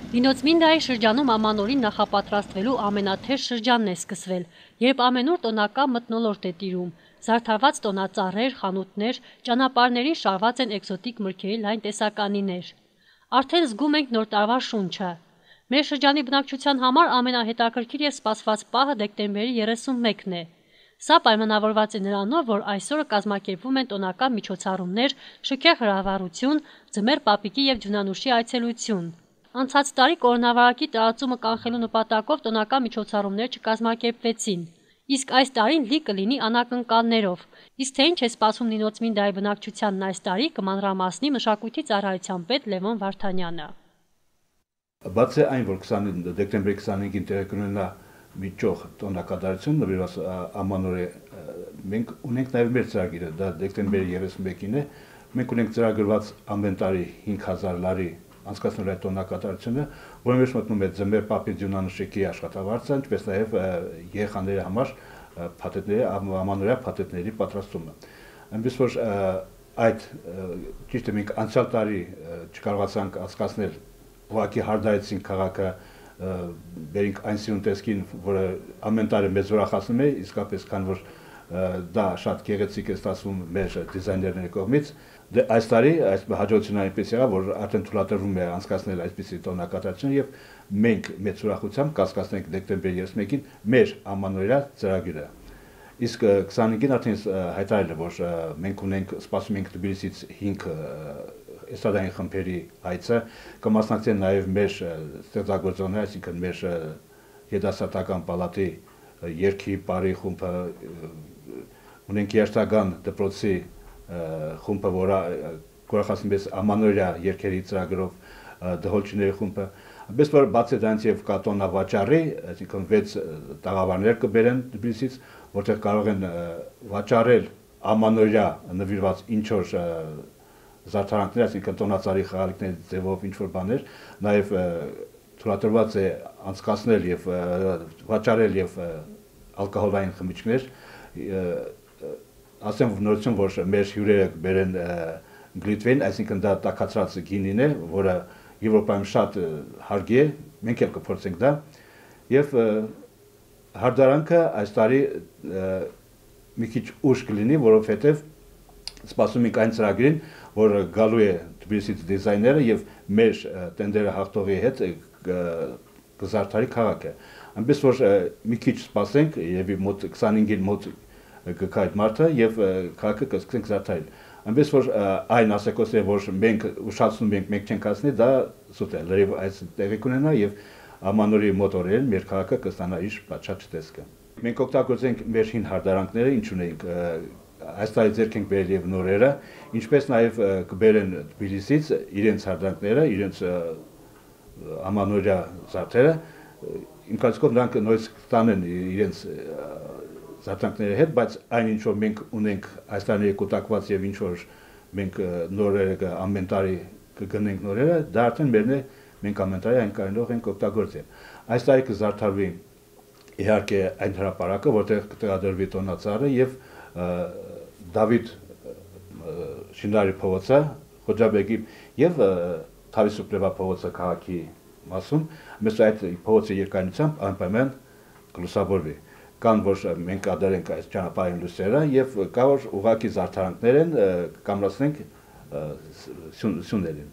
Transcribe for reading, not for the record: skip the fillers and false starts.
Լինոցմինդայի շրջանում ամանորին նախապատրաստվելու ամենաթեժ շրջանն է սկսվել, երբ ամենուր տոնական մթնոլորտ է տիրում, զարդարված տոնածառեր, խանութներ, ճանապարհներին շարված են էկզոտիկ մրգերի լայն տեսականիներ։ Արդեն զգում ենք նոր տարվա շունչը։ Մեր շրջանի բնակչության համար ամենահետաքրքիր եւ սպասված պահը դեկտեմբերի 31-ն է։ Սա պայմանավորված է նրանով, որ այսօրը կազմակերպվում են տոնական միջոցառումներ, շքեղ հրավառություն, ձմեռ պապիկի եւ ջունանուշի այցելություն։ Անցած տարի կորոնավիրուսի տարածումը կանխելու նպատակով տոնական միջոցառումներ չկազմակերպվեցին, իսկ այս տարին լի կլինի անակնկալներով։ Իսկ թե ինչ է սպասում Լինոցմինդայի բնակչությանն այս տարի, կմանրամասնի մշակույթի ծառայության պետ Լևոն Վարդանյանը։ Բացի այն, որ դեկտեմբերի 25-ին տեղի կունենա միջող տոնակատարություն նվիրված ամանորի, մենք ունենք նաև մեր ծրագիրը, դա դեկտեմբերի 31-ին է, մենք ունենք ծրագրված ամեն տարի 5000 լարի անցկացնելու այդ տոնակատարությունը, որի մեջ մտնում է ձմեռ պապի ջունանշիկի աշխատավարձը, ինչպես նաև երեխաների համար փաթեթների, ամանորյա փաթեթների պատրաստումը։ Այնպես որ այդ ճիշտ է, մենք անցյալ տարի չկարողացանք անցկացնել, ուղղակի հարդարեցին քաղաքը, բերինք այն սիրուն տեսքին, որը ամեն տարի մեզ ուրախացնում է, իսկապես քան որ դա շատ գեղեցիկ է ստացվում մեր դիզայներների կողմից։ Դե այս տարի այս հաջողությունը այնպես եղավ, որ արդեն թույլատրվում է անցկացնել այսպիսի տոնակատարություն եւ մենք մեծ ուրախությամբ կասկածենք դեկտեմբերի 31-ին մեր ամանորյա ծրագիրը։ Իսկ 25-ին արդեն հայտարարել է, որ մենք ունենք սպասում ենք Թբիլիսից 5 էստրադային խմբերի այցը, կմասնակցեն նաև մեր ստեղծագործողներ, այսինքն մեր երիտասարդական պալատի երգի բարի խումբը, ունենք երաժշտական դպրոցի խումբը, որը կուրախացնում է ամանորյա երգերի ծրագրով, դհոլչիների խումբը, այնպես որ բացի դրանից եւ կա տոնավաճառի, այսինքն 6 տաղավարներ կբերեն Թբիլիսից, որտեղ կարող են վաճառել ամանորյա նվիրված ինչ որ զարդարանքներ, այսինքն տոնածառի խաղալիքների ձևով ինչ որ բաներ, նաև թույլատրված է անցկացնել եւ վաճառել եւ ալկոհոլային խմիչքներ, ասեմ նորություն, որ մեր հյուրերը բերեն գլիտվեն, այսինքն դա տաքացրած գինին է, որը Եվրոպայում շատ հարգի է, մենք էլ կփորձենք դա, եւ հարդարանքը այս տարի մի քիչ ուշ կլինի, որովհետեւ սպասում ենք այն ծրագրին, որ գալու է Թբիլիսից դիզայները եւ մեր տենդերը հաղթողի հետ կզարդարի քաղաքը։ Այնպես որ մի քիչ սպասենք, եւ մոտ 25-ին մոտ կգա այդ մարդը եւ քաղաքը կսկսենք զարդարել։ Այնպես որ այն ասեկոսը, որ մենք ուշացնում ենք, մենք չենք ասնի, դա սուտ է, լրիվ այս տեղի կունենա եւ ամանորի մոտորերն մեր քաղաքը կստանա իր պատշաճ տեսքը։ Մենք օգտագործենք մեր հին հարդարանքները, ինչ ունենք այս տարի ձեռք ենք բերել եւ նորերը, ինչպես նաեւ կբերեն Թբիլիսից իրենց հարդարանքները, իրենց ամանորյա զարդերը, իմ կարծիքով նրանք նույնիսկ ստանեն իրենց զարդարանքների հետ, բայց այն ինչ որ մենք ունենք այս տարի կուտակված եւ ինչ որ մենք նորերը ամեն տարի կգնենք նորերը, դա արդեն մերն է, մենք ամեն տարի այն կարող ենք օգտագործել։ Այս տարի կզարդարվի իհարկե այն հրապարակը, որտեղ կտեղադրվի տոնածառը եւ Դավիթ Շինարի փողոցը, Խոջաբեկի եւ Թավիսուպլևա փողոցը քաղաքի մասում, մեծ այդ փողոցի երկայնությամբ անպայման կլուսավորվի։ Կան որ մենք ադարենք այս ճանապարհային լույսերը եւ կա որ ուղակի զարդարանքներ են կամրացնենք սյուներին։